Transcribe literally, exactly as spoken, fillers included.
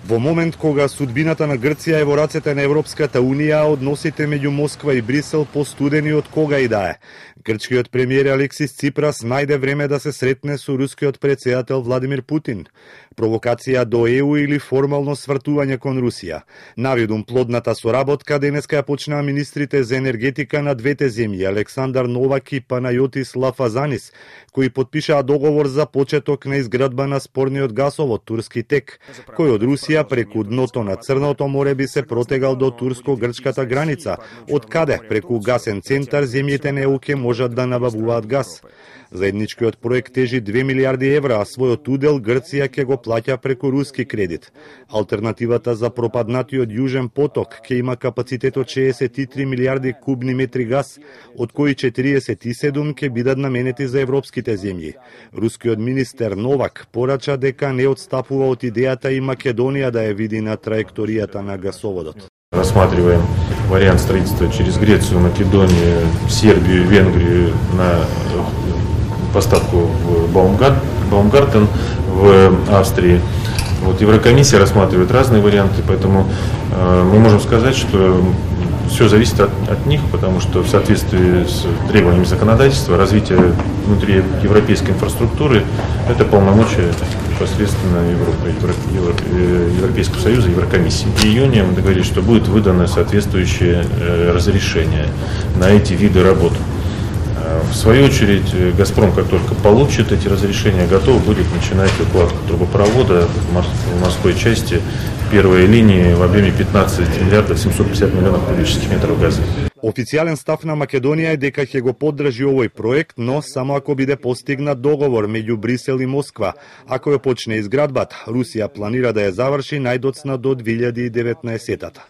Во момент кога судбината на Грција е во рацете на Европската Унија, односите меѓу Москва и Брисел постудени од кога и да е. Грчкиот премиер Алексис Ципрас најде време да се сретне со рускиот претседател Владимир Путин. Провокација до Е У или формално свртување кон Русија. Навидум плодната соработка денеска ја почнаа министрите за енергетика на двете земји Александар Новак и Панајотис Лафазанис, кои подпишаа договор за почеток на изградба на спорниот гасовод Турски тек, кој од Русија преку дното на Црното море би се протегал до турско-грчката граница, од каде преку гасен центар земјите на Е У ќе можат да набавуваат газ. Заедничкиот проект тежи две милиарди евра, а својот удел Грција ќе го плаќа преку руски кредит. Алтернативата за пропаднатиот Јужен поток ќе има капацитет од шеесет и три милиарди кубни метри газ, од кои четириесет и седум ќе бидат наменети за европските земји. Рускиот министер Новак порача дека не отстапува од идејата и Македонија да ја види на траекторијата на гасоводот. Рассматриваем вариант строительства через Грецию, Македонию, Сербию, Венгрию на поставку в Баумгартен в Австрии. Вот Еврокомиссия рассматривает разные варианты, поэтому э, мы можем сказать, что все зависит от, от них, потому что в соответствии с требованиями законодательства развитие внутри европейской инфраструктуры – это полномочия непосредственно Европы, Евро, Европейского Союза и Еврокомиссии. В июне мы договорились, что будет выдано соответствующее э, разрешение на эти виды работ. В свою очередь, «Газпром», как только получит эти разрешения, готов будет начинать укладку трубопровода в морской части первой линии в объеме пятнадцать миллиардов семьсот пятьдесят миллионов кубических метров газа. Официјален став на Македонија е дека ќе го поддржи овој проект, но само ако биде постигнат договор меѓу Брисел и Москва. Ако ја почне изградбата, Русија планира да ја заврши најдоцна до две илјади и деветнаесетата.